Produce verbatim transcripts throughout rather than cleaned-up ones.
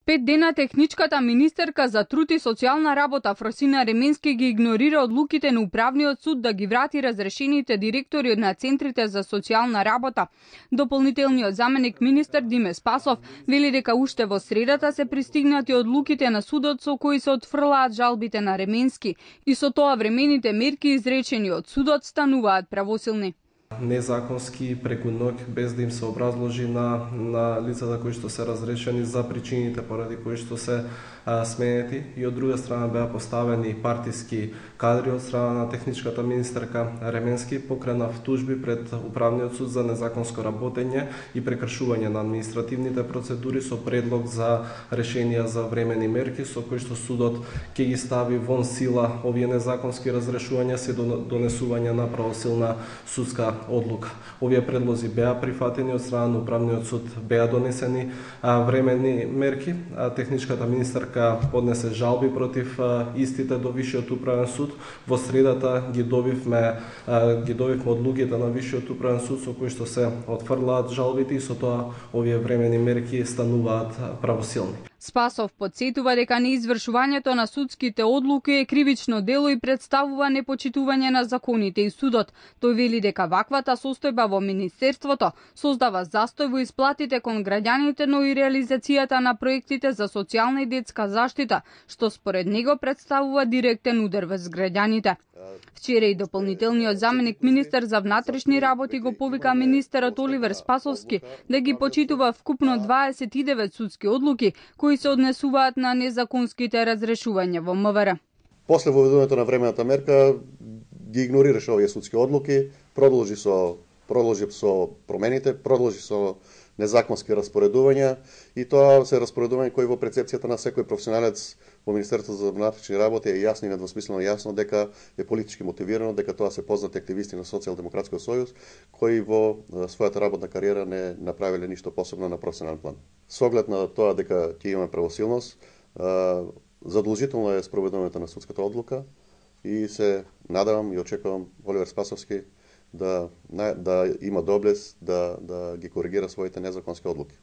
Пет дена техничката министерка за труд и социјална работа Фросина Ременски ги игнорира одлуките на управниот суд да ги врати разрешените директори на центрите за социјална работа. Дополнителниот заменик министер Диме Спасов вели дека уште во средата се пристигнати одлуките на судот со кои се отфрлаат жалбите на Ременски и со тоа времените мерки изречени од судот стануваат правосилни. Незаконски преку ноќ, без да им се образложи на, на лицата кои што се разрешени за причините поради кои што се а, сменети, и од друга страна беа поставени партиски кадри од страна на техничката министерка Ременски, покренав тужби пред управниот суд за незаконско работење и прекршување на административните процедури со предлог за решенија за времени мерки со кои што судот ќе ги стави вон сила овие незаконски разрешувања се донесување на правосилна судска одлука. Овие предлози беа прифатени од страна на управниот суд, беа донесени а, временни мерки. А, техничката министерка поднесе жалби против а, истите до Висшиот управен суд. Во средата ги добивме а, ги добивме одлуките на Висшиот управен суд со кои што се отфрлаат жалбите и со тоа овие временни мерки стануваат правосилни. Спасов подсетува дека неизвршувањето на судските одлуки е кривично дело и представува непочитување на законите и судот. Тој вели дека ваквата состојба во министерството создава застој во исплатите кон граѓаните, но и реализацијата на проектите за социјална и детска заштита, што според него представува директен удар врз граѓаните. Вчера и дополнителниот заменик министер за внатрешни работи го повика министерот Оливер Спасовски да ги почитува вкупно дваесет и девет судски одлуки кои се однесуваат на незаконските разрешувања во МВР. После воведувањето на времената мерка ги игнорираше овие судски одлуки, продолжи со продолжи со промените, продолжи со незаконски распоредувања, и тоа се распоредување кои во прецепцијата на секој професионалец во Министерството за внатрешни работи е јасно и недвосмислено јасно дека е политички мотивирано, дека тоа се познати активисти на Социјалдемократскиот сојуз кои во својата работна кариера не направиле ништо посебно на професионален план. Со оглед на тоа дека ќе имаме правосилност, задолжително е спроведувањето на судската одлука и се надевам и очекувам Оливер Спасовски да, да има доблест да, да ги коригира своите незаконски одлуки.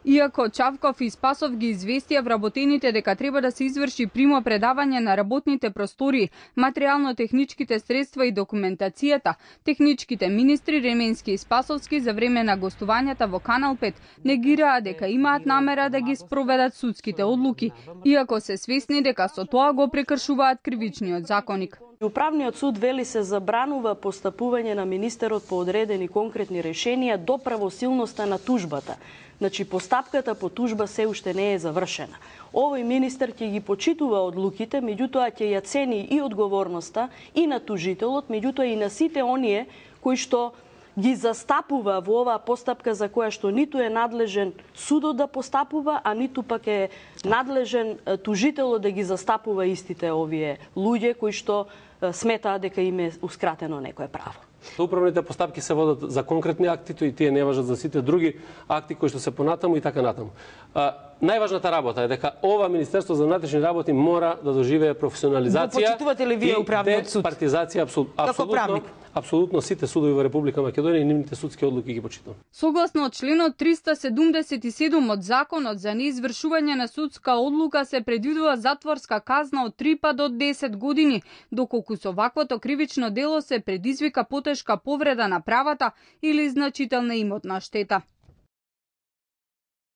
Иако Чавков и Спасов ги известија вработените дека треба да се изврши примо предавање на работните простори, материјално-техничките средства и документацијата, техничките министри Ременски и Спасовски за време на гостувањата во Канал пет негираа дека имаат намера да ги спроведат судските одлуки, иако се свесни дека со тоа го прекршуваат кривичниот законник. Управниот суд вели се забранува постапување на министерот по одредени конкретни решенија до правосилноста на тужбата. Значи, постапката по тужба се уште не е завршена. Овој министер ќе ги почитува одлуките, меѓутоа ќе ја цени и одговорноста и на тужителот, меѓутоа и на сите оние кои што ги застапува во оваа постапка за која што ниту е надлежен судот да постапува, а ниту пак е надлежен тужителот да ги застапува истите овие луѓе кои што сметаат дека им е ускратено некое право. Управните постапки се водат за конкретни акти, и тие не важат за сите други акти кои што се понатаму и така натаму. А, најважната работа е дека ова Министерство за внатрешни работи мора да доживее професионализација. Го почитувате ли вие управниот суд? Партизација, абсолютно, абсолютно, абсолютно сите судови во Република Македонија и нивните судски одлуки ги почитувам. Согласно членот триста седумдесет и седум од Законот за неизвршување на судска одлука се предвидува затворска казна од три па до десет години, доколку со ваквото кривично дело се предизвика потешка повреда на правата или значителна имотна штета.